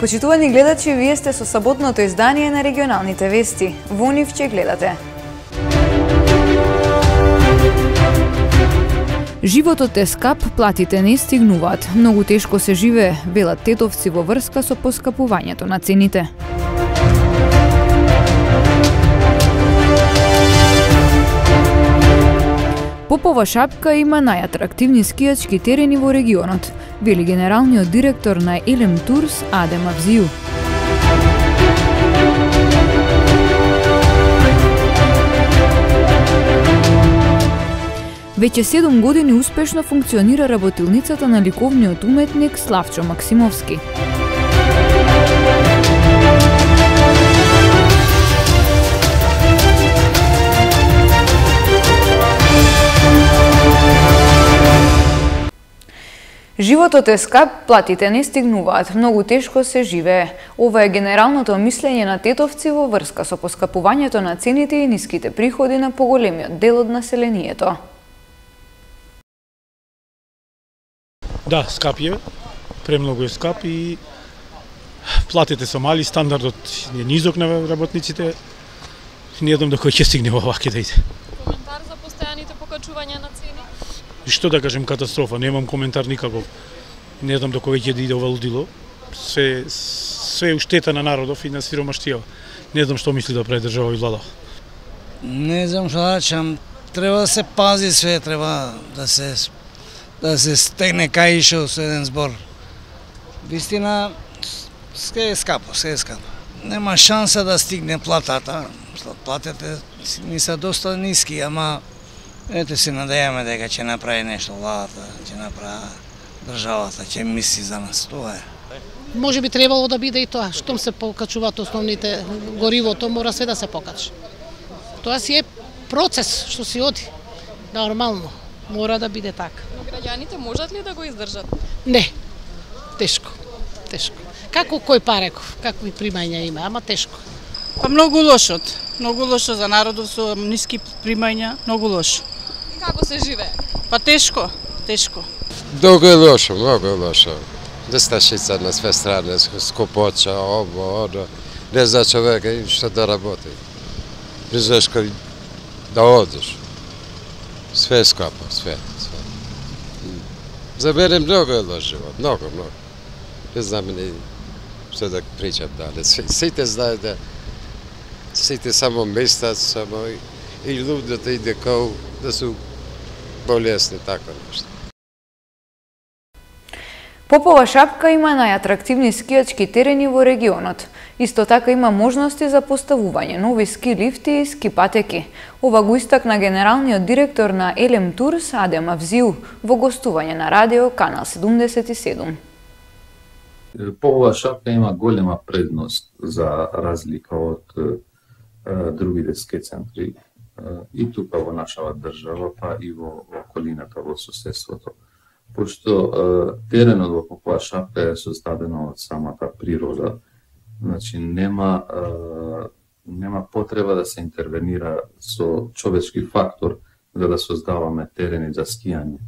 Почитувани гледачи, вие сте со саботното издание на регионалните вести. Во нив ќе гледате. Животот е скап, платите не стигнуваат. Многу тешко се живее, велат тетовци во врска со поскапувањето на цените. Попова шапка има најатрактивни скијачки терени во регионот, вели генералниот директор на Елем Турс Адем Авзију. Веќе 7 години успешно функционира работилницата на ликовниот уметник Славчо Максимовски. Животот е скап, платите не стигнуваат, многу тешко се живее. Ова е генералното мислење на тетовци во врска со поскапувањето на цените и ниските приходи на поголемиот дел од населението. Да, скап е, премногу е скап и платите се мали, стандардот е низок на работниците. Не знам до кој ќе стигне оваќе да иде. Коментар за постојаните покачувања на цени? Што да кажем, катастрофа, немам коментар никаков. Не знам до кој ќе да иде ова лудило. Све уштета на народов и на сиромаштија. Не знам што мисли да прави држава и влада. Не знам што да речам, треба да се пази све, треба да се стегне каишо со еден збор. Вистина, се е скапо, се е скапо. Нема шанса да стигне платата. Платите ни се доста ниски, ама ете се надејаме дека ќе направи нешто владата, ќе направи државата, ќе мисли за нас, тоа е. Може би требало да биде и тоа, штом се покачуваат основните горивото, мора све да се покачи. Тоа си е процес што си оди, нормално, мора да биде така. Но граѓаните можат ли да го издржат? Не, тешко, тешко. Како кој пареков, какви примања има, ама тешко. Па многу лошо за народов со ниски примања, многу лошо. Како се живее? Па тешко. Многу е лошо. Нестачица на све стране, скопоća, ово, оно. Не зна човека и што да работи. Не знаеш кај да одиш. Све е скапо, све. За мене многу е лош живот, многу. Не знам ни што да причам дале. Сите знаат да сите само местат, само и луѓето иде као да су болесни, така нешто. Попова шапка има најатрактивни скијачки терени во регионот. Исто така има можности за поставување нови ски лифти и ски патеки. Ова го истакна генералниот директор на Елем Турс Адем Авзију во гостување на радио Канал 77. Попова шапка има голема предност за разлика од другите ски центри и тука во нашава држава, па и во околината, во соседството. Пошто теренот во попова шапка е создадено од самата природа, значи нема потреба да се интервенира со човечки фактор за да создаваме терени за скијање.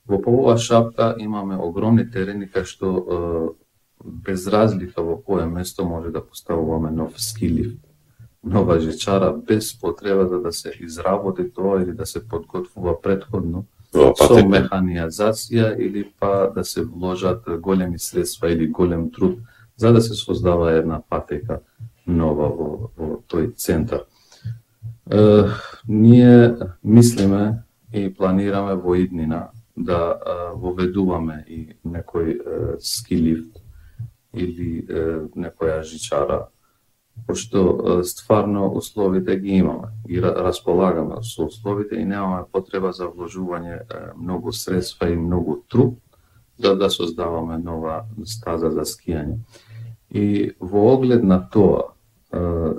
Во попова шапка имаме огромни терени кај што без разлика во кое место може да поставуваме нов ски лифт, нова жичара, без потребата да се изработи тоа или да се подготвува претходно со механизација или па да се вложат големи средства или голем труд за да се создава една патека нова во тој центар. Ние мислиме и планираме во иднина да воведуваме и некој ски лифт или некоја жичара, пошто стварно условите ги имаме и располагаме со условите и немаме потреба за вложување многу средства и многу труд да создаваме нова стаза за скијање. И во оглед на тоа,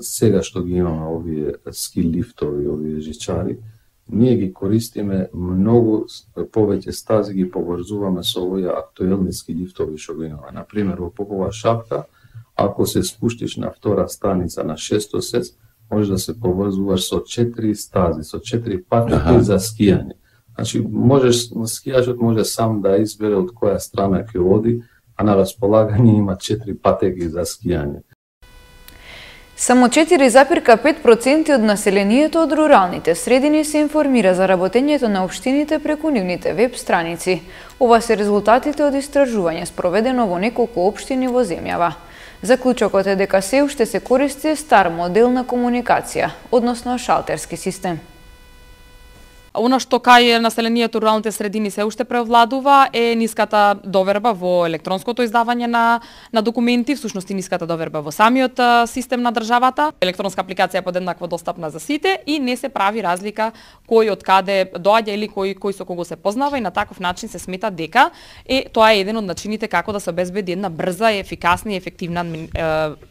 сега што ги имаме овие ски лифтови, овие жичари, ние ги користиме многу повеќе стази, ги поврзуваме со овие актуелни ски лифтови што ги имаме. Например, во Попова шапка, ако се спуштиш на втора станица на 600 сец, може да се поврзуваш со 4 стази, со 4 патеки за скијање. Значи, скијачот може сам да избере од која страна ќе оди, а на располагање има 4 патеки за скијање. Само 4,5% од населението од руралните средини се информира за работењето на општините преку нивните веб страници. Ова се резултатите од истражување спроведено во неколку општини во земјава. Заклучокот е дека се уште се користи стар модел на комуникација, односно шалтерски систем. Она што кај населението руралните средини се уште превладува е ниската доверба во електронското издавање на документи, всушност и ниската доверба во самиот систем на државата. Електронска апликација е подеднакво достапна за сите и не се прави разлика кој од каде доаѓа или кој со кого се познава и на таков начин се смета дека тоа е еден од начините како да се обезбеди една брза, ефикасна и ефективна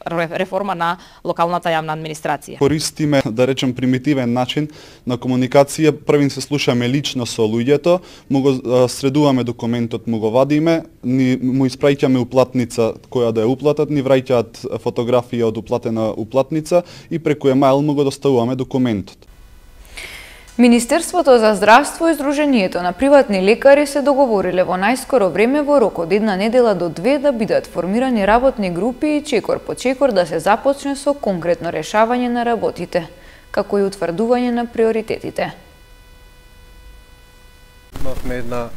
реформа на локалната јавна администрација. Користиме, да речем, примитивен начин на комуникација. Првин се слушаме лично со луѓето, му го средуваме документот, му го вадиме, му испраќаме уплатница која да ја уплатат, ни враќаат фотографија од уплатена уплатница и преку емаил му го доставуваме документот. Министерството за здравство и Сдруженијето на приватни лекари се договориле во најскоро време во рок од една недела до 2 да бидат формирани работни групи и чекор по чекор да се започне со конкретно решавање на работите, како и утврдување на приоритетите. Имавме една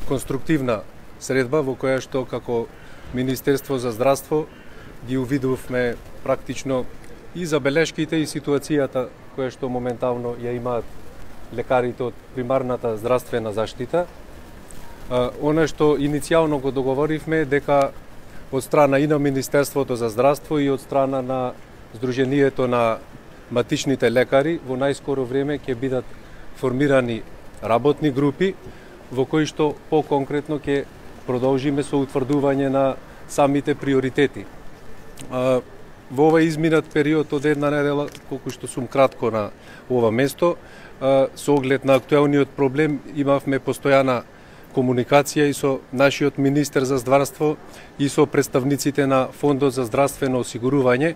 конструктивна средба во која што како Министерство за здравство ги увидувме практично и забелешките и ситуацијата која што моментално ја имаат лекарите од примарната здравствена заштита. Она што иницијално го договоривме дека од страна и на Министерството за здравство и од страна на Сдруженијето на матичните лекари во најскоро време ќе бидат формирани работни групи во кои што по-конкретно ќе продолжиме со утврдување на самите приоритети. Во овој изминат период од една недела, колку што сум кратко на ова место, со оглед на актуелниот проблем имавме постојана комуникација и со нашиот министер за здравство и со представниците на Фондот за здравствено осигурување.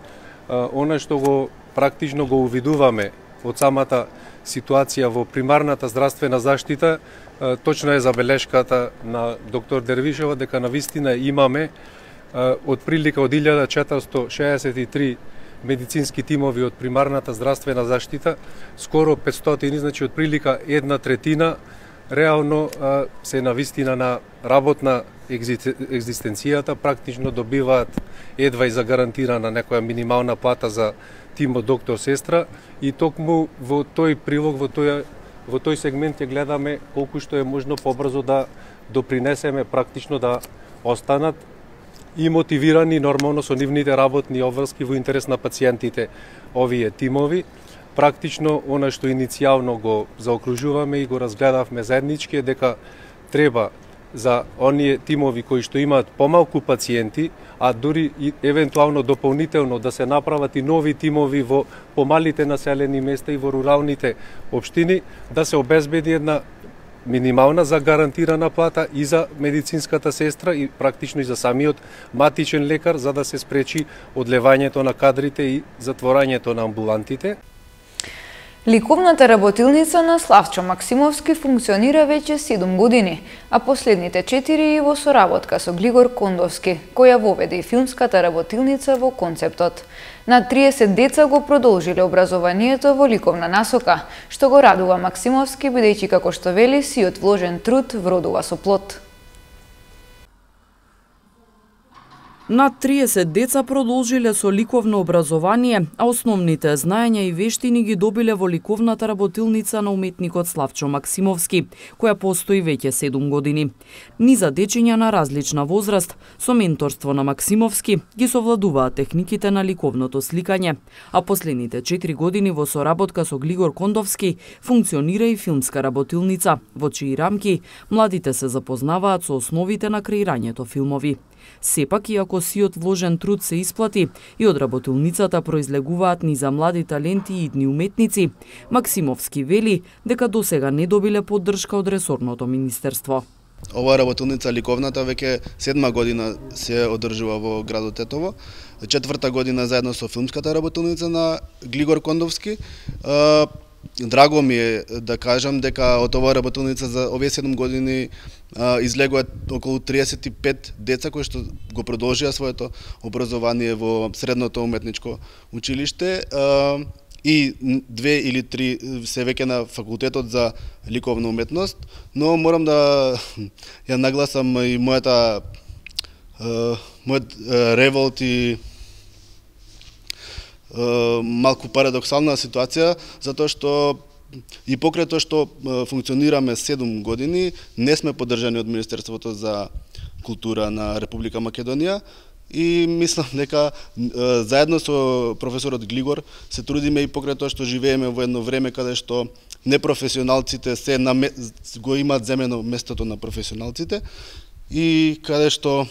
Она што го практично го увидуваме од самата ситуација во примарната здравствена заштита, точно е забелешката на доктор Дервишева дека навистина имаме од прилика од 1463 медицински тимови од примарната здравствена заштита, скоро 500, значи од прилика 1/3 реално се навистина на работна екзистенцијата, практично добиваат едва и загарантирана некоја минимална плата за тимот доктор-сестра и токму во тој прилог, во тој сегмент ќе гледаме колку што е можно побрзо да допринесеме практично да останат и мотивирани нормално со нивните работни обврски во интерес на пациентите овие тимови. Практично она што иницијално го заокружуваме и го разгледавме заеднички е дека треба за оние тимови кои што имаат помалку пациенти, а дури и евентуално дополнително да се направат и нови тимови во помалите населени места и во руралните општини, да се обезбеди една минимална загарантирана плата и за медицинската сестра и практично и за самиот матичен лекар, за да се спречи одлевањето на кадрите и затворањето на амбулантите. Ликовната работилница на Славчо Максимовски функционира веќе 7 години, а последните 4 и во соработка со Глигор Кондовски, која воведе и филмската работилница во концептот. На 30 деца го продолжиле образованието во ликовна насока, што го радува Максимовски, бидејќи како што вели сиот вложен труд вродува со плод. Над 30 деца продолжиле со ликовно образование, а основните знаења и вештини ги добиле во ликовната работилница на уметникот Славчо Максимовски, која постои веќе 7 години. Низа дечиња на различна возраст, со менторство на Максимовски, ги совладуваат техниките на ликовното сликање, а последните 4 години во соработка со Глигор Кондовски функционира и филмска работилница, во чии рамки младите се запознаваат со основите на креирањето филмови. Сепак, иако сиот вложен труд се исплати и од работилницата произлегуваат низа млади таленти и идни уметници, Максимовски вели дека досега не добиле поддршка од ресорното министерство. Ова работилница ликовната веќе 7 година се одржува во градот Тетово, 4-та година заедно со филмската работилница на Глигор Кондовски. драго ми е да кажам дека од оваа работилница за овие 7 години излегуваат околу 35 деца кои што го продолжија своето образование во средното уметничко училиште и 2 или 3 се веќе на факултетот за ликовна уметност, но морам да ја нагласам и мојот револт и малку парадоксална ситуација, затоа што и покрај тоа што функционираме 7 години, не сме поддржани од Министерството за култура на Република Македонија и мислам дека заедно со професорот Глигор се трудиме и покрај тоа што живееме во едно време каде што непрофесионалците го имаат земено местото на професионалците и каде што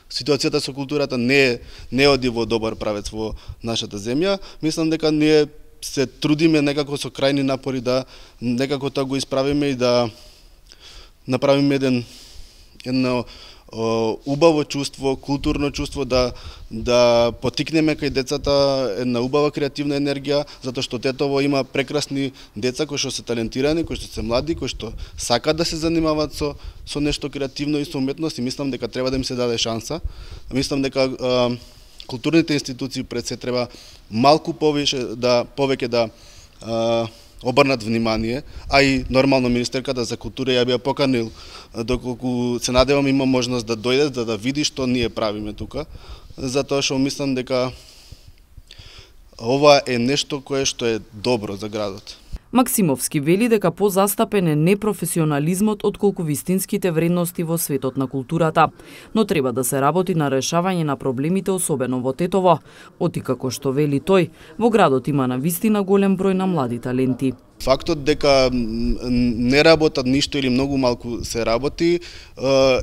ситуацијата со културата не оди во добар правец во нашата земја. Мислам дека ние се трудиме некако со крајни напори да некако тоа го исправиме и да направиме едно убаво чувство, културно чувство, да потикнеме кај децата една убава креативна енергија, затоа што Тетово има прекрасни деца кои што се талентирани, кои што се млади, кои што сакаат да се занимаваат со нешто креативно и со уметност и мислам дека треба да им се даде шанса. Мислам дека културните институции пред се треба малку повеќе да обрнат внимание, а и нормално министерката за култура ја би ја поканил доколку се надевам има можност да дојде да види што ние правиме тука, затоа што мислам дека ова е нешто кое што е добро за градот. Максимовски вели дека позастапен е непрофесионализмот отколку вистинските вредности во светот на културата, но треба да се работи на решавање на проблемите особено во Тетово, оти како што вели тој, во градот има навистина голем број на млади таленти. Фактот дека не работат ништо или многу малку се работи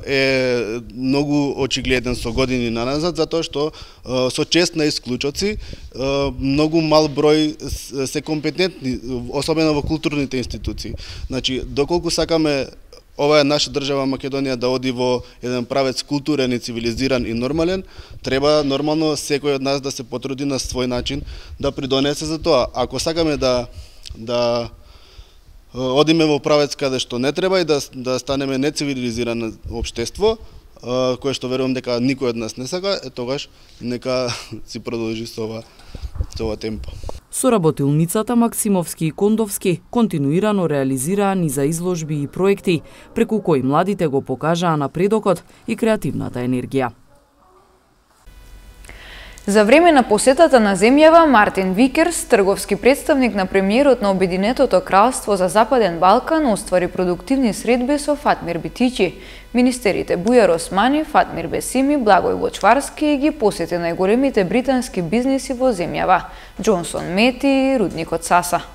е многу очигледен со години наназад, затоа што со чест на исклучоци многу мал број се компетентни, особено во културните институции. Значи, доколку сакаме оваа наша држава Македонија да оди во еден правец културен и цивилизиран и нормален, треба нормално секој од нас да се потруди на свој начин да придонесе за тоа. Ако сакаме да одиме во правец каде што не треба и да станеме нецивилизирано општество, кое што верувам дека никој од нас не сака, тогаш нека си продолжи со ова темпо. Соработилницата Максимовски и Кондовски континуирано реализираа низа изложби и проекти, преку кои младите го покажаа напредокот и креативната енергија. За време на посетата на земјава, Мартин Викерс, трговски представник на премиерот на Обединетото кралство за Западен Балкан, оствари продуктивни средби со Фатмир Битичи. Министерите Бујар Османи, Фатмир Бесими, Благој Вочварски ги посети најголемите британски бизниси во земјава, Джонсон Мети и рудникот Саса.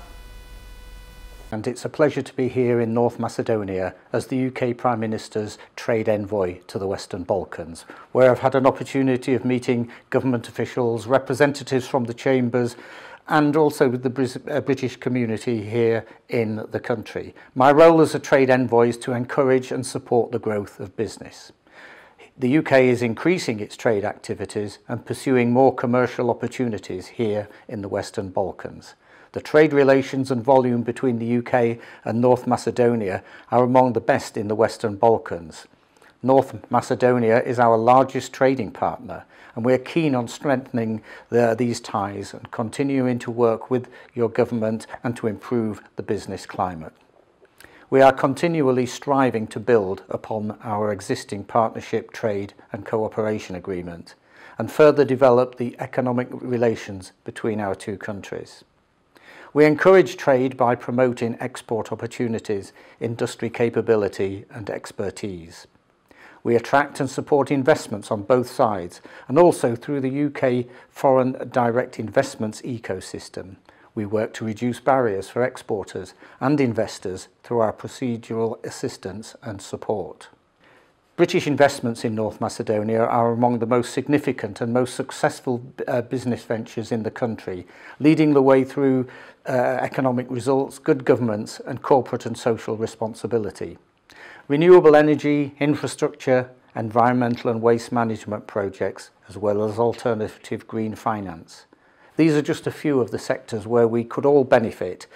And it's a pleasure to be here in North Macedonia as the UK Prime Minister's trade envoy to the Western Balkans, where I've had an opportunity of meeting government officials, representatives from the chambers, and also with the British community here in the country. My role as a trade envoy is to encourage and support the growth of business. The UK is increasing its trade activities and pursuing more commercial opportunities here in the Western Balkans. The trade relations and volume between the UK and North Macedonia are among the best in the Western Balkans. North Macedonia is our largest trading partner, and we are keen on strengthening these ties and continuing to work with your government and to improve the business climate. We are continually striving to build upon our existing partnership, trade and cooperation agreement and further develop the economic relations between our two countries. We encourage trade by promoting export opportunities, industry capability and expertise. We attract and support investments on both sides and also through the UK foreign direct investments ecosystem. We work to reduce barriers for exporters and investors through our procedural assistance and support. British investments in North Macedonia are among the most significant and most successful business ventures in the country, leading the way through economic results, good governance and corporate and social responsibility. Renewable energy, infrastructure, environmental and waste management projects, as well as alternative green finance. These are just a few of the sectors where we could all benefit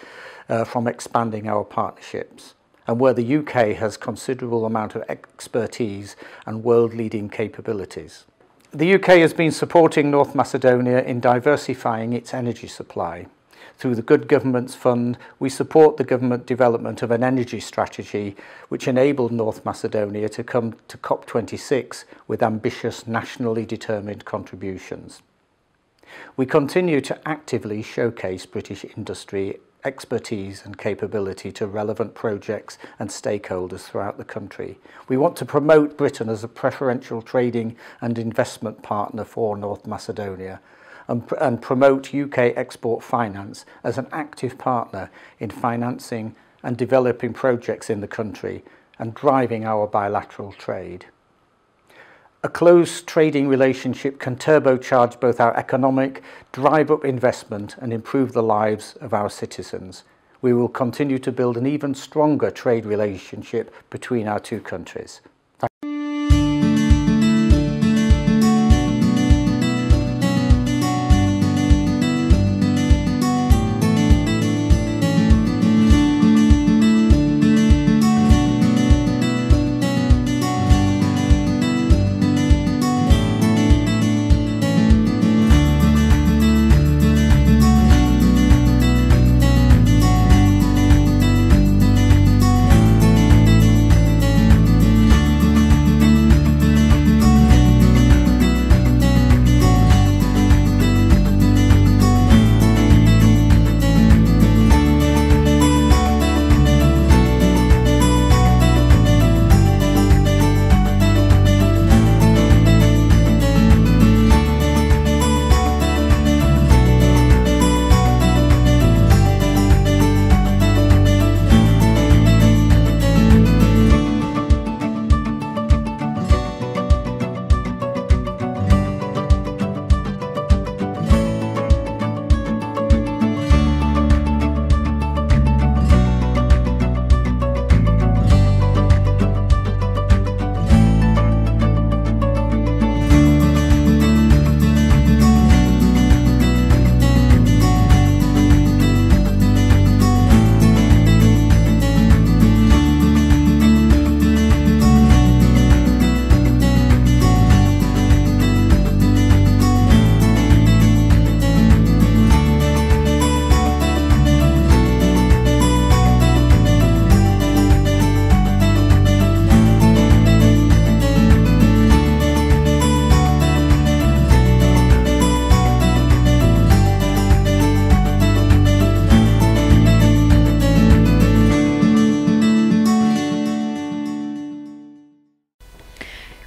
from expanding our partnerships, and where the UK has considerable amount of expertise and world-leading capabilities. The UK has been supporting North Macedonia in diversifying its energy supply. Through the Good Governance Fund, we support the government development of an energy strategy which enabled North Macedonia to come to COP26 with ambitious nationally determined contributions. We continue to actively showcase British industry expertise and capability to relevant projects and stakeholders throughout the country. We want to promote Britain as a preferential trading and investment partner for North Macedonia, and promote UK export finance as an active partner in financing and developing projects in the country and driving our bilateral trade. A close trading relationship can turbocharge both our economic, drive up investment and improve the lives of our citizens. We will continue to build an even stronger trade relationship between our two countries.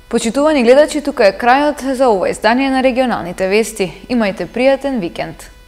Почитувани гледачи, тука е крајот за ова издание на регионалните вести. Имајте пријатен викенд.